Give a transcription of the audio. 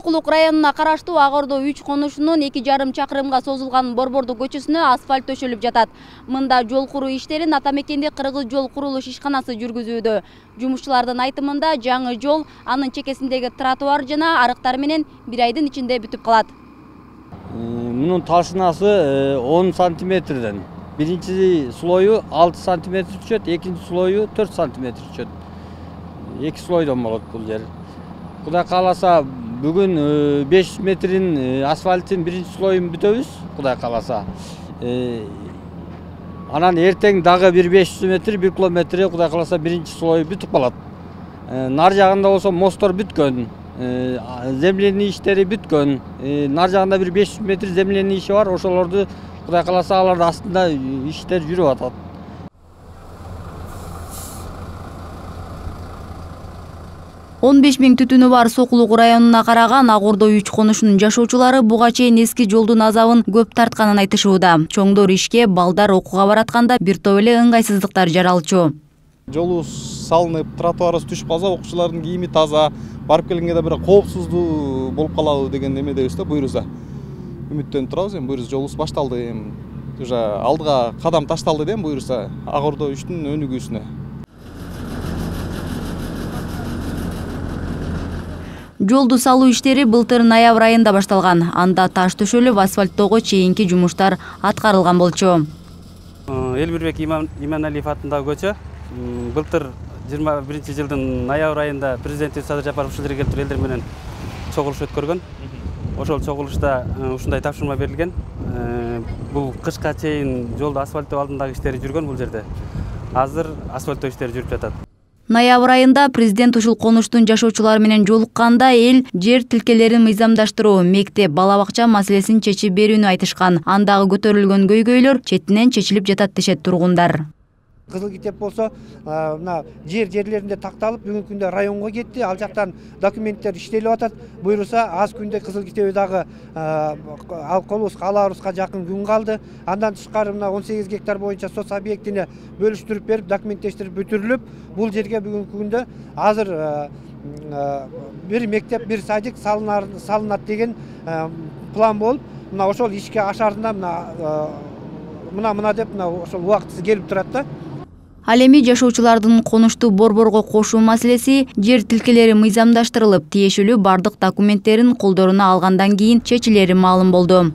Сокулук районуна караштуу Ак Ордо 3 конушунун 2,5 чакырымга созулган Борбордуу көчөсүнө асфальт төшөлүп жатат. Мында жол куруу иштерин ата мекенде Кыргыз жол курулуш ишканасы жүргүзүүдө. Жумушчулардын айтымында жаңы жол анын чекесиндеги тротуар жана арыктар менен 1 айдын ичинде бүтүп калат. Мунун ташынасы 10 сантиметрден. Биринчи слою 6 сантиметр түшөт, экинчи слою 4 сантиметр түшөт. 2 слойдон болот бул жер. Кудай кааласа бүгүн 500 метрин асфальттын биринчи слоюн бүтөбүз, кудай кааласа. Анан эртең дагы 500 метр, 1 километр кудай кааласа биринчи слою бүтүп калат. Нар жагында болсо мосттор бүткөн, земляный иштери бүткөн. Нар жагында бир 500 метр земляный иши бар, ошолорду кудай кааласа алардын астында иштер жүрүп атат. 15 000 түтүнү бар Сокулук районуна караган Ак Ордо 3 конушунун жашоочулары буга чейин эски жолдун азабын көп тартканын айтышууда. Чоңдор ишке, балдар окууга баратканда бир топ эле ыңгайсыздыктар жаралчу. Жолубуз салынып, тротуарыбыз түшүп калса, окуучулардын кийими таза, барып келгенге да бир коопсуздуу болуп калабы деген эмедебиз да, буюрса. Үмүттөнүп турабыз, эми буюрса жолубуз башталды, эми уже алдыга кадам ташталды да, буюрса Ак Ордо 3-түн өнүгүүсүнө. Жолду салуу иштери былтыр ноябрь айында башталган. Анда таш төшөлүп, асфальттоого чейинки жумуштар аткарылган болчу. Элбирбек Иманалиев атындагы көчө былтыр 21-жылдын ноябрь айында президентибиз Садыр Жапаров ушул жерге келип элдер менен чогулуш өткөргөн. Ошол чогулушта ушундай тапшырма берилген. Бул кышка чейин жолду асфальттоо алдындагы иштери жүргөн бул жерде. Азыр асфальттоо иштери жүрүп жатат. Ноябрь айында президент ушул конуштун жашоочулары менен жолукканда эл жер тилкелерин мыйзамдаштыруу, мектеп, бала бакча маселесин чечип берүүнү айтышкан. Андагы көтөрүлгөн көйгөйлөр четинен чечилип жатат дешет тургундар. Кызыл китеп болсо, мына жерлеринде такталып, бүгүнкү күндө районго кетти. Ал жактан документтер иштелип атат. Буюрса, аз күндө кызыл китеби дагы алабызга жакын күн калды. Андан тышкары мына 18 гектар боюнча соц объектине бөлүштүрүп берип, документтештирип бүтүрүлүп, бул жерге бүгүнкү күндө азыр бир мектеп, бир садик салынат деген план болуп, мына ошол ишке ашарында мына деп ошол убактысы келип турат да. Ал эми жашоочулардын конушту борборго кошуу маселеси жер тилкелери мыйзамдаштырылып, тиешелүү бардык документтерин колдоруна алгандан кийин чечилери маалым болду.